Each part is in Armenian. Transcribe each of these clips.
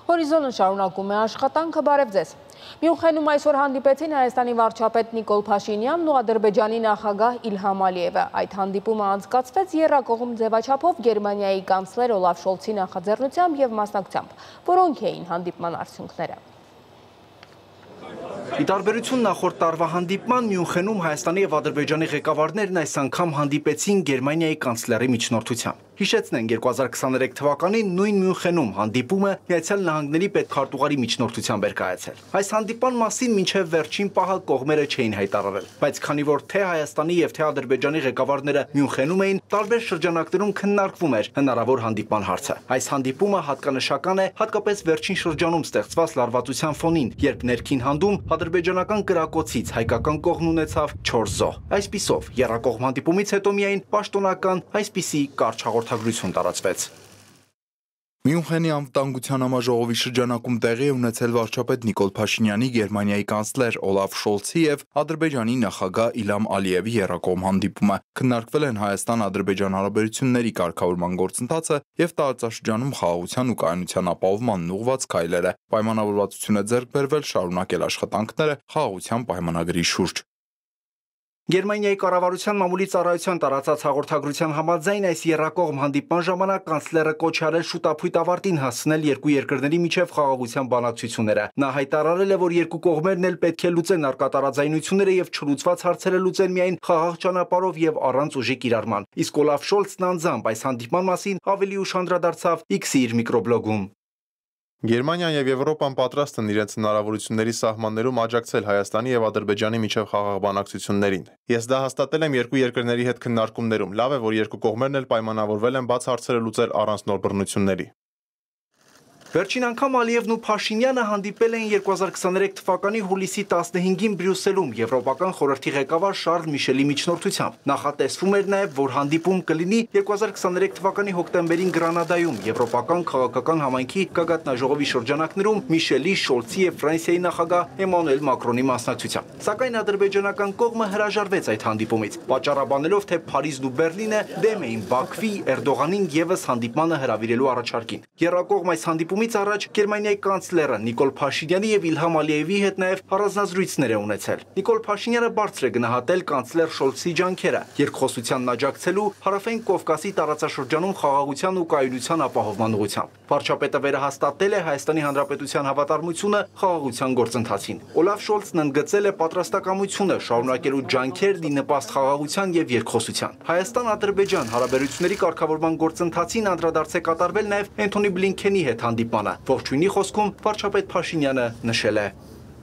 Հորիզոնը շարունակում է աշխատանքը, բարև ձեզ։ Մյունխենում այսօր հանդիպեցին Հայաստանի վարչապետ Նիկոլ Փաշինյանն ու Ադրբեջանի նախագահ Իլհամ Ալիևը։ Այդ հանդիպումը անցկացվեց եռակողմ ձևաչափով Գերմանիայի կանցլեր Օլաֆ Շոլցի նախաձեռնությամբ եւ մասնակցությամբ։ Որոնք էին հանդիպման արդյունքները։ Ի տարբերություն նախորդ տարվա հանդիպման, Մյունխենում Հայաստանի եւ Ադրբեջանի ղեկավարներն այս անգամ հանդիպեցին Գերմանիայի կանցլերի միջնորդությամբ։ Հիշեցնենք 2023 թվականին նույն Մյունխենում հանդիպումը Միացյալ Նահանգների պետքարտուղարի միջնորդությամբ էր կայացել։ Այս հանդիպման մասին մինչև վերջին պահը կողմերը չէին հայտարարել, բայց քանի որ թե Հայաստանի եւ թե Ադրբեջանի ղեկավարները Մյունխենում էին, տարբեր շրջանակներում քննարկվում էր հնարավոր հանդիպման հարցը։ Այս հանդիպումը հատկանշական է հատկապես վերջին շրջանում ստեղծված լարվածության ֆոնին, երբ ներքին հանդում ադրբեջանական կրակոցից հայկական կողմն ունեցավ 4 զոհ։ Այսպիսով, եռակողմ հանդիպումից հետո միայն պաշտոնական այսպիսի կարճ հաղորդագրություն տարածվեց։ Մյունխենի անվտանգության համաժողովի շրջանակում տեղի է ունեցել վարչապետ Նիկոլ Փաշինյանի, Գերմանիայի կանցլեր Օլաֆ Շոլցի եւ Ադրբեջանի նախագահ Իլհամ Ալիևի եռակողմ հանդիպումը։ Քննարկվել են Հայաստան-Ադրբեջան հարաբերությունների կարգավորման գործընթացը եւ տարածաշրջանում խաղաղության ու կայունության ապահովմանն ուղղված քայլերը։ Պայմանավորվածություն է ձեռք բերվել շարունակել աշխատանքները խաղաղության պայմանագրի շուրջ։ Գերմանիայի կառավարության մամուլի ծառայության տարածած հաղորդագրության համաձայն այս եռակողմ հանդիպման ժամանակ կանցլերը կոչ արել շուտափույթ ավարտին հասցնել երկու երկրների միջև խաղաղության բանակցությունները։ Նա հայտարարել է, որ երկու կողմերն էլ պետք է լուծեն առկա տարաձայնությունները եւ չլուծված հարցերը լուծեն միայն խաղաղ ճանապարհով եւ առանց ուժի կիրառման։ Իսկ Օլաֆ Շոլցն անձամբ այս հանդիպման մասին ավելի ուշ անդրադարձավ X-ի իր միկրոբլոգում։ Գերմանիան եւ Եվրոպան պատրաստ են իրենց հնարավորությունների սահմաններում աջակցել Հայաստանի եւ Ադրբեջանի միջև խաղաղ բանակցություններին։ Ես դա հաստատել եմ երկու երկրների հետ քննարկումներում։ Լավ է, որ երկու կողմերն էլ պայմանավորվել են բաց հարցերը լուծել առանց նոր բռնությունների։ Վերջին անգամ Ալիևն ու Փաշինյանը հանդիպել էին 2023 թվականի հուլիսի 15-ին Բրյուսելում Եվրոպական խորհրդի ղեկավար Շարլ Միշելի միջնորդությամբ։ Նախատեսվում էր նաև, որ հանդիպում կլինի 2023 թվականի հոկտեմբերին Գրանադայում Եվրոպական քաղաքական համայնքի գագաթնաժողովի շրջանակներում Միշելի, Շոլցի եւ Ֆրանսիայի նախագահ Էմանուել Մակրոնի մասնակցությամբ։ Սակայն ադրբեջանական կողմը հրաժարվեց այդ հանդիպումից, պատճառաբանելով, թե Փարիզն ու Բեռլինը դեմ էին Բաքվի, Էրդողանին եւս հանդիպմանը հրավիրելու առաջարկին։ Եռակողմ այս հանդիպումից առաջ Գերմանիայի կանցլերը Նիկոլ Փաշինյանի եւ Իլհամ Ալիևի հետ նաև առանձնազրույցներ է ունեցել։ Նիկոլ Փաշինյանը բարձր է գնահատել կանցլեր Շոլցի ջանքերը երկխոսությանն աջակցելու Հարավային Կովկասի տարածաշրջանում խաղաղության ու կայունության ապահովման ուղղությամբ։ Վարչապետը վերահաստատել է Հայաստանի Հանրապետության հավատարմությունը խաղաղության գործընթացին։ Օլաֆ Շոլցն ընդգծել է պատրաստակամությունը շարունակելու ջանքերն ի նպաստ խաղաղության եւ երկխոսության։ Հայաստան-Ադրբեջան հարաբերությունների կարգավորման գործընթացին անդրադարձ է կատարվել նաև Էնթոնի Բլինքենի հետ հանդիպմանը։ Ողջույնի խոսքում վարչապետ Փաշինյանը նշել է.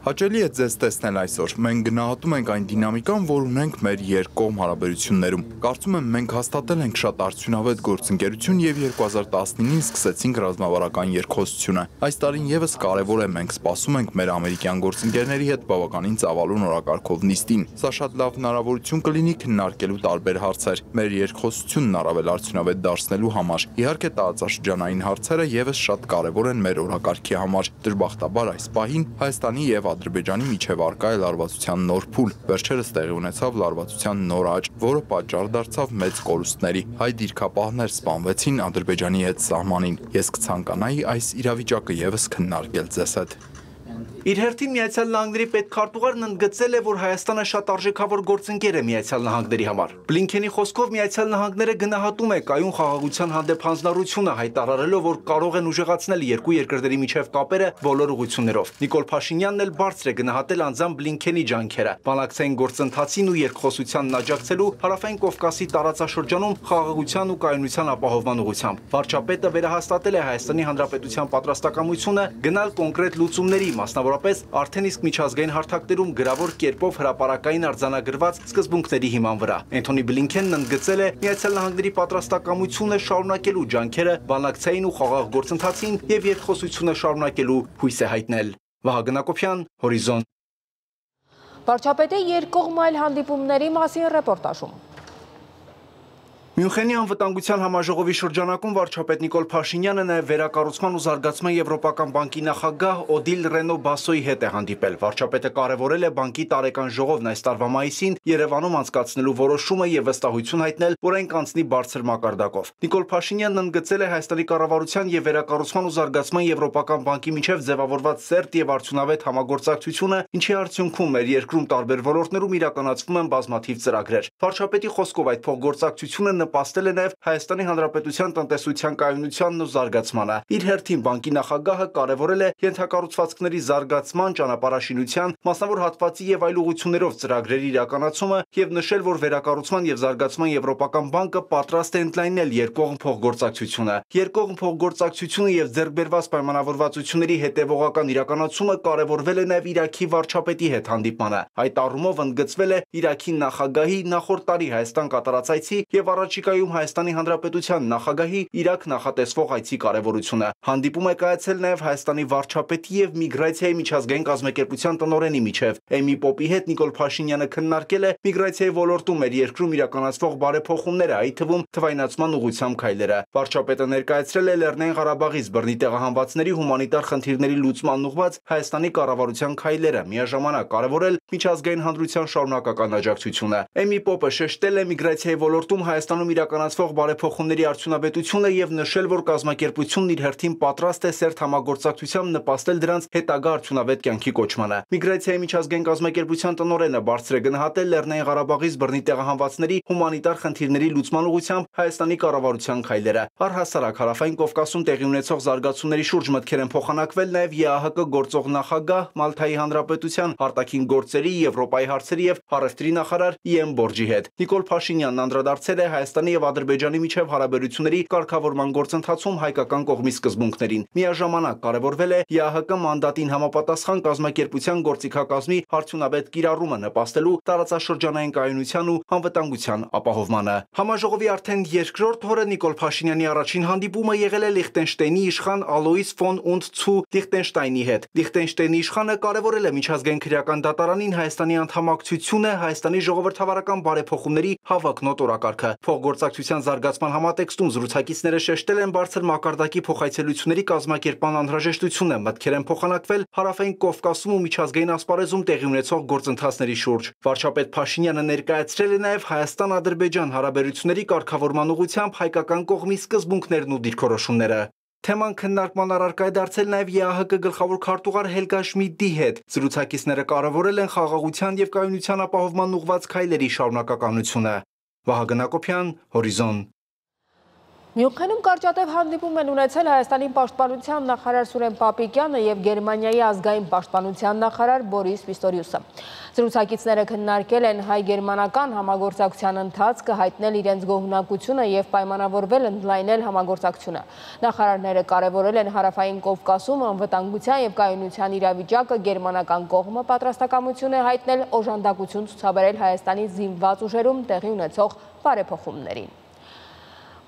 Հաճելի է ձեզ տեսնել այսօր։ Մենք գնահատում ենք այն դինամիկան, որ ունենք մեր երկկողմ հարաբերություններում։ Կարծում եմ մենք հաստատել ենք շատ արդյունավետ գործընկերություն եւ 2019-ին սկսեցինք ռազմավարական երկխոսությունը։ Այս տարին եւս կարեւոր է, մենք սպասում ենք մեր ամերիկյան գործընկերների հետ բավականին ծավալուն օրակարգով նիստին։ Սա շատ լավ հնարավորություն կլինի քննարկելու տարբեր հարցեր, մեր երկխոսությունն առավել արդյունավետ դարձնելու համար։ Իհարկե տարածաշրջանային հարցերը եւս շատ կարեւոր են մեր օրակարգի համար։ Դժբախտաբար այս պահին Հայաստանի եւ Ադրբեջանի միջև արկա է լարվածության նոր փուլ։ Վերջերս տեղի ունեցավ լարվածության նոր աճ, որը պատճառ դարձավ մեծ կորուստների։ Հայ դիրքապահներ սպանվեցին Ադրբեջանի հետ սահմանին։ Ես կցանկանայի այս իրավիճակը եւս քննարկել ձեզ հետ։ Իր հերթին Միացյալ Նահանգների պետքարտուղարն ընդգծել է, որ Հայաստանը շատ արժեքավոր գործընկեր է Միացյալ Նահանգների համար։ Բլինքենի խոսքով Միացյալ Նահանգները գնահատում է կայուն խաղաղության հանդեպ հանձնառությունը, հայտարարելով, որ կարող են ուժեղացնել երկու երկրների միջև կապերը բոլոր ուղղություններով։ Նիկոլ Փաշինյանն էլ բարձր է գնահատել անձամբ Բլինքենի ջանքերը բանակցային գործընթացին ու երկխոսությանն աջակցելու Հարավային Կովկասի տարածաշրջանում խաղաղության ու կայունության ապահովման ուղղությամբ։ Վարչապետը վերահաստատել է Հայաստանի Հանրապետության պատրաստակամությունը գնալ կոնկրետ լուծումների, մասնավորապես արդեն իսկ միջազգային հարթակներում գրավոր կերպով հրապարակային արձանագրված սկզբունքների հիման վրա։ Էնթոնի Բլինքենն ընդգծել է Միացյալ Նահանգների պատրաստակամությունը շարունակելու ջանքերը բանակցային ու խաղաղ գործընթացին եւ երկխոսությունը շարունակելու հույս է հայտնել։ Վահագն Ակոբյան, Հորիզոն։ Վարչապետի երկկողմ այլ հանդիպումների մասին ռեպորտաժում։ Մյունխենի անվտանգության համաժողովի շրջանակում վարչապետ Նիկոլ Փաշինյանը նաև վերակառուցման ու զարգացման Եվրոպական բանկի նախագահ Օդիլ Ռենո Բասոյի հետ է հանդիպել։ Վարչապետը կարևորել է բանկի տարեկան ժողովն այս տարվա մայիսին Երևանում անցկացնելու որոշումը եւ վստահություն հայտնել, որ այն կանցնի բարձր մակարդակով։ Նիկոլ Փաշինյանն ընդգծել է Հայաստանի կառավարության եւ վերակառուցման ու զարգացման Եվրոպական բանկի միջև ձևավորված սերտ եւ արդյունավետ համագործակցությունը, ինչի արդյունքում մեր երկրում տարբեր ոլորտներում իրականացվում են բազմաթիվ ծրագրեր։ Վարչապետի խոսքով այդ փոխգործակցությունը նպաստել է նաև Հայաստանի Հանրապետության տնտեսության կայունությանն ու զարգացմանը։ Իր հերթին բանկի նախագահը կարևորել է ենթակառուցվածքների զարգացման, ճանապարհաշինության, մասնավոր հատվածի եւ այլ ուղղություններով ծրագրերի իրականացումը եւ նշել, որ վերակառուցման եւ զարգացման Եվրոպական բանկը պատրաստ է ընդլայնել երկկողմ փոխգործակցությունը։ Երկկողմ փոխգործակցությունը եւ ձեռքբերված պայմանավորվածությունների հետեւողական իրականացումը կարևորվել է նաև Իրաքի վարչապետի հետ հանդիպմանը։ Այդ առումով ընդգծվել է Իրաքի նախագահի նախորդ տարի Հայաստան կատարած այցի եւ առաջիկայում Հայաստանի Հանրապետության նախագահի Իրաք նախատեսվող այցի կարևորությունը։ Հանդիպում է կայացել նաև Հայաստանի վարչապետի եւ Միգրացիայի միջազգային կազմակերպության տնօրենի միջև։ Էմի Պոպի հետ Նիկոլ Փաշինյանը քննարկել է միգրացիայի ոլորտում մեր երկրում իրականացվող բարեփոխումները, այդ թվում թվայնացման ուղղությամբ քայլերը։ Վարչապետը ներկայացրել է Լեռնային Ղարաբաղից բռնի տեղահանվածների հումանիտար խնդիրների լուծման ուղղված Հայաստանի կառավարության քայլերը, միաժամանակ կարևորել միջազգային հանրության շարունակական աջակցությունը։ Էմի Պոպը շեշտել է միգրացիայի ոլորտում Հայաստանում իրականացվող բարեփոխումների արդյունավետությունը եւ նշել, որ կազմակերպությունն իր հերթին պատրաստ է սերտ համագործակցությամբ նպաստել դրանց հետագա արդյունավետ կյանքի կոչմանը։ Միգրացիայի միջազգային կազմակերպության տնօրենը բարձր է գնահատել Լեռնային Ղարաբաղից բռնի տեղահանվածների հումանիտար խնդիրների լուծման ուղղությամբ Հայաստանի կառավարության քայլերը։ Առհասարակ Հարավային Կովկասում տեղի ունեցող զարգացումների շուրջ մտքեր են փոխանակվել նաև ԵԱՀԿ գործող նախագահ, Մալթայի Հանրապետության արտաքին գործերի, Եվրոպայի հարցերի եւ առևտրի նախարար Իեմ Բորջի հետ։ Նիկոլ Փաշինյանն անդրադարձել է Հայաստանի եւ Ադրբեջանի միջև հարաբերությունների կարգավորման գործընթացում հայկական կողմի սկզբունքներին։ Միաժամանակ կարևորվել է ԵԱՀԿ մանդատին համապատասխան կազմակերպության գործիքակազմի արդյունավետ կիրառումը նպաստելու տարածաշրջանային կայունության ու անվտանգության ապահովմանը։ Համաժողովի արդեն երկրորդ օրը Նիկոլ Փաշինյանի առաջին հանդիպումը եղել է Լիխտենշտեյնի իշխան Ալոիս ֆոն und zu Լիխտենշտայնի հետ։ Լիխտենշտեյնի իշխանը կարևորել է միջազգային քրեական դատարանին Հայաստանի անդամակցությունը Հայաստանի ժողովրդավարական բարեփոխումների հավակնոտ օրակարգը։ Փոխգործակցության զարգացման համատեքստում զրուցակիցները շեշտել են բարձր մակարդակի փոխայցելությունների կազմակերպման անհրաժեշտությունը, մտքեր են փոխանակվել Հարավային Կովկասում ու միջազգային ասպարեզում տեղի ունեցող գործընթացների շուրջ։ Վարչապետ Փաշինյանը ներկայացրել է նաև Հայաստան-Ադրբեջան հարաբերությունների կարգավորման ուղղությամբ հայկական կողմի սկզբունքներն ու դիրքորոշումները։ Թեման քննարկման առարկա է դարձել նաև ԵԱՀԿ գլխավոր քարտուղար Հելգա Շմիդտի հետ։ Զրուցակիցները կարևորել են խաղաղության եւ կայունության ապահովման ուղղված քայլերի շարունակականությունը։ Վահագն Հակոբյան, Հորիզոն։ Մյունխենում կարճատև հանդիպում են ունեցել Հայաստանի պաշտպանության նախարար Սուրեն Պապիկյանը եւ Գերմանիայի ազգային պաշտպանության նախարար Բորիս Պիստորիուսը։ Զրուցակիցները քննարկել են հայ-գերմանական համագործակցության ընթացքը, հայտնել իրենց գոհունակությունը եւ պայմանավորվել ընդլայնել համագործակցությունը։ Նախարարները կարևորել են Հարավային Կովկասում անվտանգության եւ կայունության իրավիճակը, գերմանական կողմը պատրաստակամություն է հայտնել օժանդակություն ցուցաբերել Հայաստանի զինված ուժերում տեղի ունեցող բարեփոխումներին։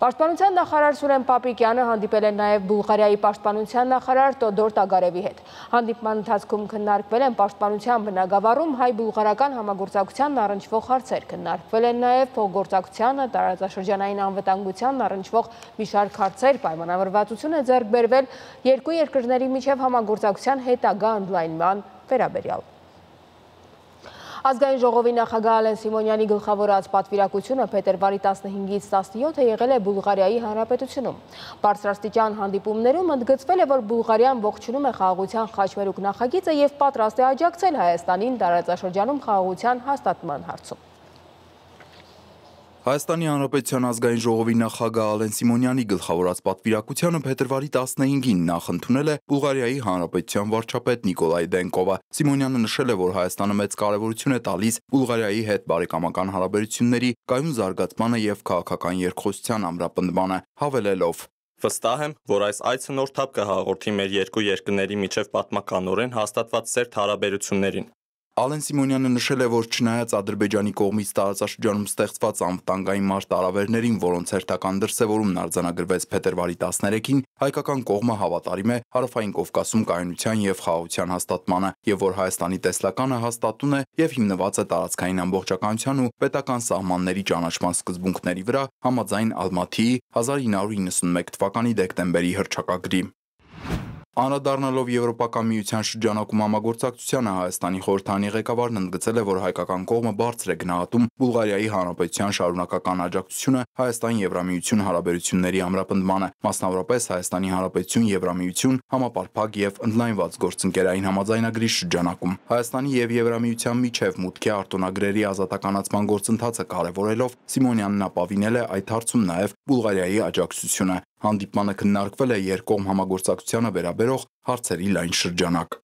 Պաշտպանության նախարար Սուրեն Պապիկյանը հանդիպել է նաև Բուլղարիայի պաշտպանության նախարար Տոդոր Տագարևի հետ։ Հանդիպման ընթացքում քննարկվել են պաշտպանության բնագավառում հայ-բուլղարական համագործակցությանն առնչվող հարցեր, քննարկվել են նաև փոխգործակցությանը, տարածաշրջանային անվտանգությանն առնչվող մի շարք հարցեր, պայմանավորվածություն է ձեռք բերվել երկու երկրների միջև համագործակցության հետագա ընդլայնման վերաբերյալ։ Ազգային ժողովի նախագահ Ալեն Սիմոնյանի գլխավորած պատվիրակությունը փետրվարի 15-ից 17-ը եղել է Բուլղարիայի Հանրապետությունում։ Բարձրաստիճան հանդիպումներում ընդգծվել է, որ Բուլղարիան ողջունում է խաղաղության խաչմերուկ նախագիծը եւ պատրաստ է աջակցել Հայաստանին տարածաշրջանում խաղաղության հաստատման հարցում։ Հայաստանի Հանրապետության ազգային ժողովի նախագահ Ալեն Սիմոնյանի գլխավորած պատվիրակությանը փետրվարի 15-ին նախընդունել է Բուլղարիայի Հանրապետության վարչապետ Նիկոլայ Դենկովը։ Սիմոնյանը նշել է, որ Հայաստանը մեծ կարևորություն է տալիս Բուլղարիայի հետ բարեկամական հարաբերությունների կայուն զարգացմանը եւ քաղաքական երկխոսության ամրապնդմանը, հավելելով. Վստահ եմ, որ այս այցը նոր թափ կհաղորդի մեր երկու երկրների միջև պատմականորեն հաստատված սերտ հարաբերություններին։ Ալեն Սիմոնյանը նշել է, որ չնայած Ադրբեջանի կողմից տարածաշրջանում ստեղծված անվտանգային մարտահրավերներին, որոնց հերթական դրսևորումն արձանագրվեց փետրվարի 13-ին, հայկական կողմը հավատարիմ է Հարավային Կովկասում կայունության եւ խաղաղության հաստատմանը, եւ որ Հայաստանի տեսլականը հաստատուն է եւ հիմնված է տարածքային ամբողջականության ու պետական սահմանների ճանաչման սկզբունքների վրա, համաձայն Ալմաթիի 1991 թվականի դեկտեմբերի հռչակագրի։ Անդրադառնալով Եվրոպական միության շրջանակում համագործակցությանը Հայաստանի խորհրդանի ղեկավարն ընդգծել է, որ հայկական կողմը բարձր է գնահատում Բուլղարիայի Հանրապետության շարունակական աջակցությունը Հայաստան-Եվրամիություն հարաբերությունների ամրապնդմանը, մասնավորապես Հայաստանի Հանրապետություն Եվրամիություն համապարփակ եւ ընդլայնված գործընկերային համաձայնագրի շրջանակում։ Հայաստանի եւ Եվրամիության միջև մուտքի արտոնագրերի ազատականացման գործընթացը կարևորելով Սիմոնյանն ապավինել է այդ հարցում նաեւ Բուլղարիայի աջակցությունը։ Հանդիպմանը քննարկվել է երկկողմ համագործակցությանը վերաբերող հարցերի լայն շրջանակ։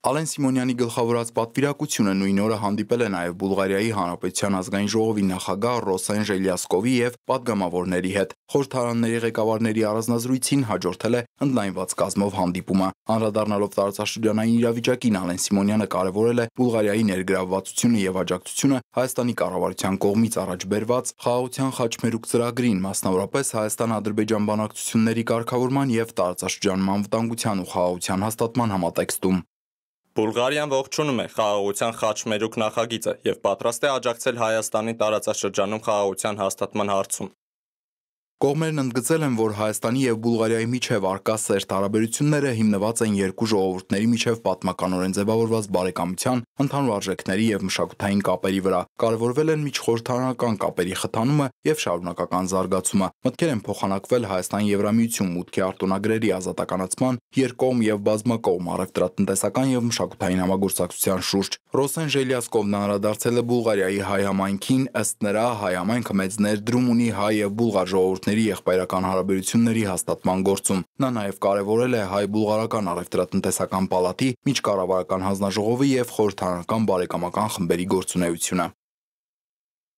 Ալեն Սիմոնյանի գլխավորած պատվիրակությունը նույն օրը հանդիպել է նաև Բուլղարիայի Հանրապետության ազգային ժողովի նախագահ Ռոսեն Ժելյասկովի եւ պատգամավորների հետ։ Խորհրդարանների ղեկավարների առանձնազրույցին հաջորդել է ընդլայնված կազմով հանդիպումը։ Անդրադառնալով տարածաշրջանային իրավիճակին, Ալեն Սիմոնյանը կարևորել է Բուլղարիայի ներգրավվածությունը եւ աջակցությունը Հայաստանի կառավարության կողմից առաջ բերված խաղաղության խաչմերուկ ծրագրին, մասնավորապես Հայաստան-Ադրբեջան բանակցությունների կարգավորման եւ տարածաշրջանում անվտանգության ու խաղաղության հաստատման համատեքստում։ Բուլղարիան ողջունում է խաղաղության խաչմերուկ նախագիծը եւ պատրաստ է աջակցել Հայաստանի տարածաշրջանում խաղաղության հաստատման հարցում։ Կողմերն ընդգծել են, որ Հայաստանի եւ Բուլղարիայի միջև առկա սերտ հարաբերությունները հիմնված են երկու ժողովուրդների միջև պատմականորեն ձևավորված բարեկամության, ընդհանուր արժեքների եւ մշակութային կապերի վրա։ Կարևորվել են միջխորհրդարանական կապերի խթանումը եւ շարունակական զարգացումը։ Մտքեր են փոխանակվել Հայաստան-Եվրամիություն մուտքի արտոնագրերի ազատականացման, երկկողմ եւ բազմակողմ առևտրատնտեսական եւ մշակութային համագործակցության շուրջ։ Ռոսեն Ժելյասկովն անդրադարձել է Բուլղարիայի հայ համայնքին, ըստ նրա հայ համայնքը մեծ ներդրում ունի հայ եւ բուլղար ժողովուրդների եղբայրական հարաբերությունների հաստատման գործում։ Նա նաև կարևորել է հայ-բուլղարական առևտրատնտեսական պալատի, միջկառավարական հանձնաժողովի եւ խորհրդարանական բարեկամական խմբերի գործունեությունը։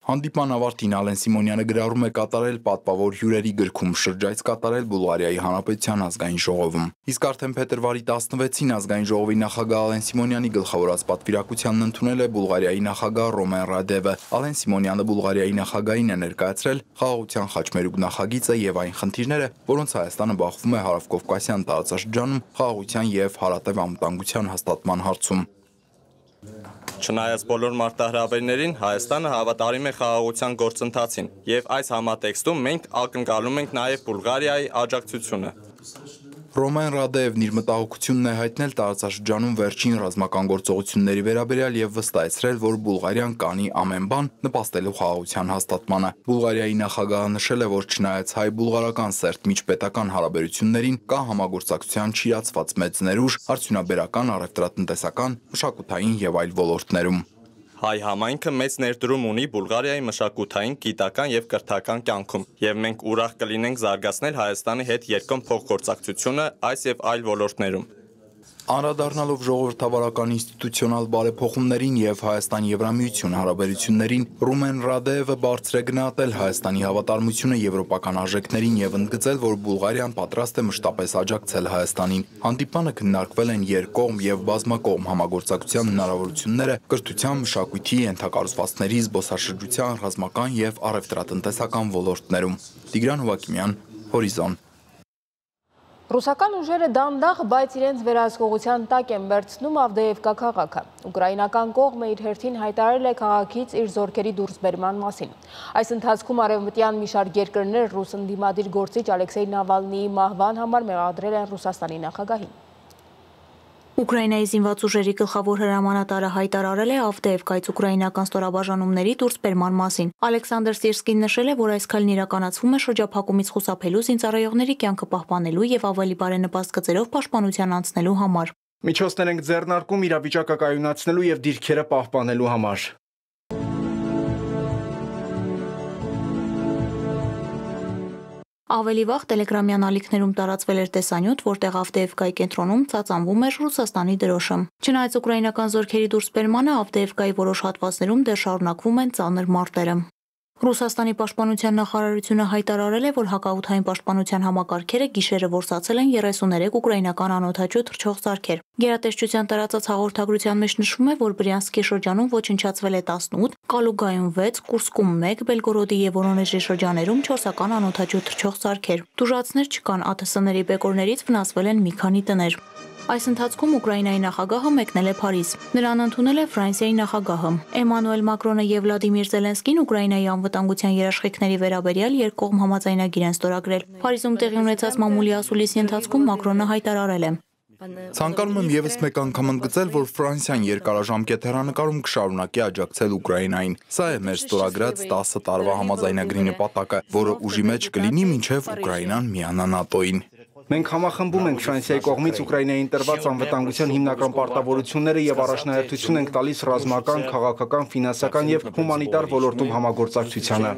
Հանդիպման ավարտին Ալեն Սիմոնյանը գրառում է կատարել պատվավոր հյուրերի գրքում շրջայց կատարել Բուլղարիայի Հանրապետության ազգային ժողովում։ Իսկ արդեն փետրվարի 16-ին ազգային ժողովի նախագահ Ալեն Սիմոնյանի գլխավորած պատվիրակությանն ընդունել է Բուլղարիայի նախագահ Ռոմեն Ռադևը։ Ալեն Սիմոնյանը Բուլղարիայի նախագահին է ներկայացրել խաղաղության խաչմերուկ նախագիծը եւ այն խնդիրները, որոնց Հայաստանը բախվում է Հարավկովկասյան տարածաշրջանում խաղաղության եւ հարատև անվտանգության հաստատման հարցում։ Չնայած բոլոր մարտահրավերներին, Հայաստանը հավատարիմ է խաղաղության գործընթացին եւ այս համատեքստում մենք ակնկալում ենք նաեւ Բուլղարիայի աջակցությունը։ Ռոմեն Ռադևն իր մտահոգությունն է հայտնել տարածաշրջանում վերջին ռազմական գործողությունների վերաբերյալ եւ վստահեցրել, որ Բուլղարիան կանի ամեն բան նպաստելու խաղաղության հաստատմանը։ Բուլղարիայի նախագահը նշել է, որ չնայած հայ-բուլղարական սերտ միջպետական հարաբերություններին կա համագործակցության չիրացված մեծ ներուժ արդյունաբերական, առևտրատնտեսական, մշակութային եւ այլ ոլորտներում։ Հայ համայնքը մեծ ներդրում ունի Բուլղարիայի մշակութային, գիտական եւ կրթական կյանքում, եւ մենք ուրախ կլինենք զարգացնել Հայաստանի հետ երկկողմ փոխգործակցությունը այս եւ այլ ոլորտներում։ Անդրադառնալով ժողովրդավարական ինստիտուցիոնալ բարեփոխումներին եւ Հայաստան-Եվրամիություն հարաբերություններին, Ռոմեն Ռադևը բարձր է գնահատել Հայաստանի հավատարմությունը եվրոպական արժեքներին եւ ընդգծել, որ Բուլղարիան պատրաստ է մշտապես աջակցել Հայաստանին։ Հանդիպանը քննարկվել են երկկողմ եւ բազմակողմ համագործակցության հնարավորությունները կրթության, մշակույթի, ենթակառուցվածքների, զբոսաշրջության, ռազմական եւ առևտրատնտեսական ոլորտներում։ Տիգրան Հովակիմյան, Հորիզոն։ Ռուսական ուժերը դանդաղ, բայց իրենց վերահսկողության տակ են վերցնում Ավդեևկա քաղաքը։ Ուկրաինական կողմը իր հերթին հայտարարել է քաղաքից իր զորքերի դուրսբերման մասին։ Այս ընթացքում արևմտյան մի շարք երկրներ ռուս ընդդիմադիր գործիչ Ալեքսեյ Նավալնիի մահվան համար մեղադրել են Ռուսաստանի նախագահին։ Ուկրաինայի զինված ուժերի գլխավոր հրամանատարը հայտարարել է Ավդեևկայից ուկրաինական ստորաբաժանումների դուրսբերման մասին։ Ալեքսանդր Սիրսկին նշել է, որ այս քայլն իրականացվում է շրջափակումից խուսափելու, զինծառայողների կյանքը պահպանելու եւ ավելի բարենպաստ գծերով պաշտպանության անցնելու համար։ Միջոցներ ենք ձեռնարկում իրավիճակը կայունացնելու եւ դիրքերը պահպանելու համար։ Ավելի վաղ տելեգրամյան ալիքներում տարածվել էր տեսանյութ, որտեղ Ավդեևկայի կենտրոնում ծածանվում էր Ռուսաստանի դրոշը։ Չնայած ուկրաինական զորքերի դուրսբերմանը, Ավդեևկայի որոշ հատվածներում դեռ շարունակվում են ծանր մարտերը։ Ռուսաստանի պաշտպանության նախարարությունը հայտարարել է, որ հակաօդային պաշտպանության համակարգերը գիշերը որսացել են 33 ուկրաինական անօդաչու թռչող սարքեր։ Գերատեսչության տարածած հաղորդագրության մեջ նշվում է, որ Բրյանսկի շրջանում ոչնչացվել է 18, Կալուգայում 6, Կուրսկում 1, Բելգորոդի եւ Վորոնեժի շրջաներում 4-ական անօդաչու թռչող սարքեր։ Տուժածներ չկան, ԱԹՍ-ների բեկորներից վնասվել են մի քանի տներ։ Այս ընթացքում Ուկրաինայի նախագահը մեկնել է Փարիզ։ Նրան ընդունել է Ֆրանսիայի նախագահը։ Էմանուել Մակրոնը եւ Վլադիմիր Զելենսկին Ուկրաինայի անվտանգության երաշխիքների վերաբերյալ երկկողմ համաձայնագիր են ստորագրել։ Փարիզում տեղի ունեցած մամուլի ասուլիսի ընթացքում Մակրոնը հայտարարել է. Ցանկանում եմ եւս մեկ անգամ ընդգծել, որ Ֆրանսիան երկարաժամկետ հեռանկարում կշարունակի աջակցել Ուկրաինային։ Սա է մեր ստորագրած 10 տարվա համաձայնագրի նպատակը, որը ուժի մեջ կլինի մինչև Ուկրաինան միանա ՆԱՏՕ-ին։ Մենք համախմբում ենք Ֆրանսիայի կողմից Ուկրաինային տրված անվտանգության հիմնական պարտավորությունները եւ առաջնահերթություն ենք տալիս ռազմական, քաղաքական, ֆինանսական եւ հումանիտար ոլորտում համագործակցությանը։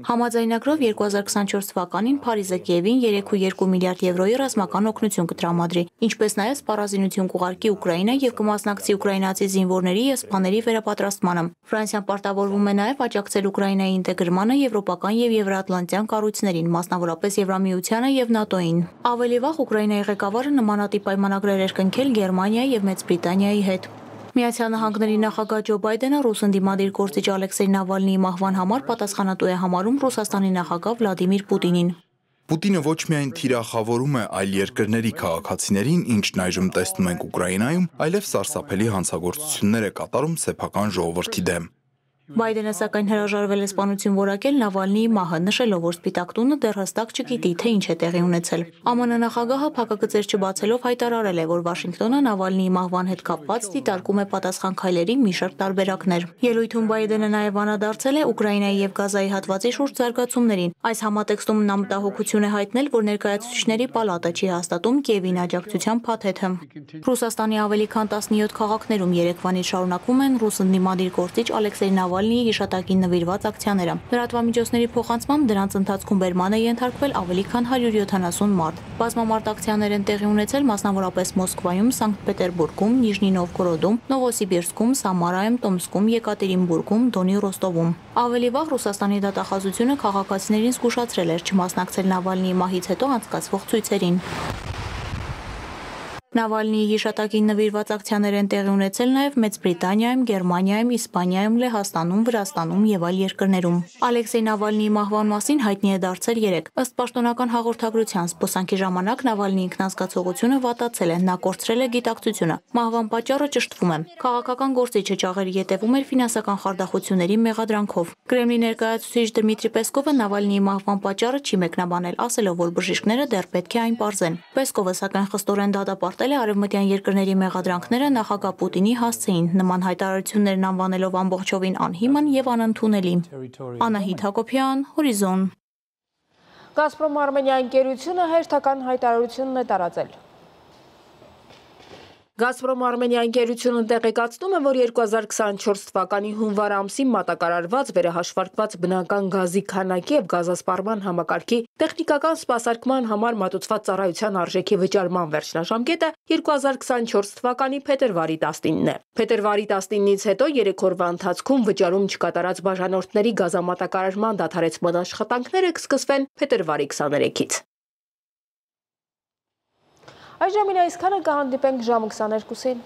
Համաձայնագրով 2024 թվականին Փարիզը Կիևին 3.2 միլիարդ եվրոյի ռազմական օգնություն կտրամադրի, ինչպես նաեւ սպառազինություն կուղարկի Ուկրաինա եւ կմասնակցի ուկրաինացի զինվորների եւ սպաների վերապատրաստմանը։ Ֆրանսիան պարտավորվում է նաեւ աջակցել Ուկրաինայի ինտեգրմանը եվրոպական եւ եվրատլանտյան կառույցներին, մասնավորապես Եվրամիությանը եւ ՆԱՏՕ-ին։ Ավելի վաղ Ուկրաինայի ղեկավարը նմանատիպ պայմանագրեր էր կնքել Գերմանիայի եւ Մեծ Բրիտանիայի հետ։ Միացյալ Նահանգների նախագահ Ջո Բայդենը ռուս ընդդիմադիր գործիչ Ալեքսեյ Նավալնիի մահվան համար պատասխանատու է համարում Ռուսաստանի նախագահ Վլադիմիր Պուտինին։ Պուտինը ոչ միայն թիրախավորում է այլ երկրների քաղաքացիներին, ինչն այժմ տեսնում ենք Ուկրաինայում, այլև սարսափելի հանցագործություններ է կատարում սեփական ժողովրդի դեմ։ Բայդենը սակայն հրաժարվել է սպանություն որակել Նավալնիի մահը, նշելով, որ Սպիտակ տունը դեռ հստակ չգիտի, թե ինչ է տեղի ունեցել։ ԱՄՆ նախագահը փակագծեր չբացելով հայտարարել է, որ Վաշինգտոնը Նավալնիի մահվան հետ կապված դիտարկում է պատասխան քայլերի մի շարք տարբերակներ։ Ելույթում Բայդենը նաև անդրադարձել է Ուկրաինայի եւ Գազայի հատվածի շուրջ զարգացումներին։ Այս համատեքստում նա մտահոգություն է հայտնել, որ ներկայացուցիչների պալատը չի հաստատում Կիևին աջակցության փաթեթը։ Ռուսաստանի ավելի քան 17 քաղաքներում երեկվանից շարունակվում են ռուս ընդդիմադիր գործիչ Ալեքսեյ Նավալնիի հիշատակին նվիրված ակցիաները։ Լրատվամիջոցների փոխանցմամբ դրանց ընթացքում բերման է ենթարկվել ավելի քան 170 մարդ։ Բազմամարդ ակցիաներ են տեղի ունեցել մասնավորապես Մոսկվայում, Սանկտ Պետերբուրգում, Նիժնի Նովգորոդում, Նովոսիբիրսկում, Սամարայում, Տոմսկում, Եկատերինբուրգում, Դոնի Ռոստովում։ Ավելի վաղ Ռուսաստանի դատախազությունը քաղաքացիներին զգուշացրել էր չմասնակցել Նավալնիի մահից հետո անցկացվող ցույցերին։ Նավալնիի հիշատակին նվիրված ակցիաներ են տեղի ունեցել նաև Մեծ Բրիտանիայում, Գերմանիայում, Իսպանիայում, Լեհաստանում, Վրաստանում եւ այլ երկրներում։ Ալեքսեյ Նավալնիի մահվան մասին հայտնի է դարձել 3։ Ըստ պաշտոնական հաղորդագրության, զբոսանքի ժամանակ Նավալնիի ինքնազգացողությունը վատացել է, նա կորցրել է գիտակցությունը։ Մահվան պատճառը ճշտվում է։ Քաղաքական գործիչը ճաղերի ետևում էր ֆինանսական խարդախությունների մեղադրանքով։ Կրեմլի ներկայացուցիչ Դմիտրի Պեսկովը Նավալնիի մահվան պատճառը չի մեկնաբանել, ասելով, որ բժիշկները դեռ պետք է այն պարզեն։ Պեսկովը սակայն խստորեն դատապարտել է արևմտյան երկրների մեղադրանքները նախագահ Պուտինի հասցեին, նման հայտարարություններն անվանելով ամբողջովին անհիմն եւ անընդունելի։ Անահիտ Հակոբյան, Հորիզոն։ Գազպրոմ Արմենիա ընկերությունը հերթական հայտարարությունն է տարածել։ Գազպրոմ Արմենիա ընկերությունը տեղեկացնում է, որ 2024 թվականի հունվար ամսին մատակարարված վերահաշվարկված բնական գազի քանակի եւ գազասպառման համակարգի տեխնիկական սպասարկման համար մատուցված ծառայության արժեքի վճարման վերջնաժամկետը 2024 թվականի փետրվարի 19-ն է։ Փետրվարի 19-ից հետո 3 օրվա ընթացքում վճարում չկատարած բաժանորդների գազամատակարարման դադարեցման աշխատանքները կսկսվեն փետրվարի 23-ից։ Այժմ այսքանը, կհանդիպենք ժամը 22-ին։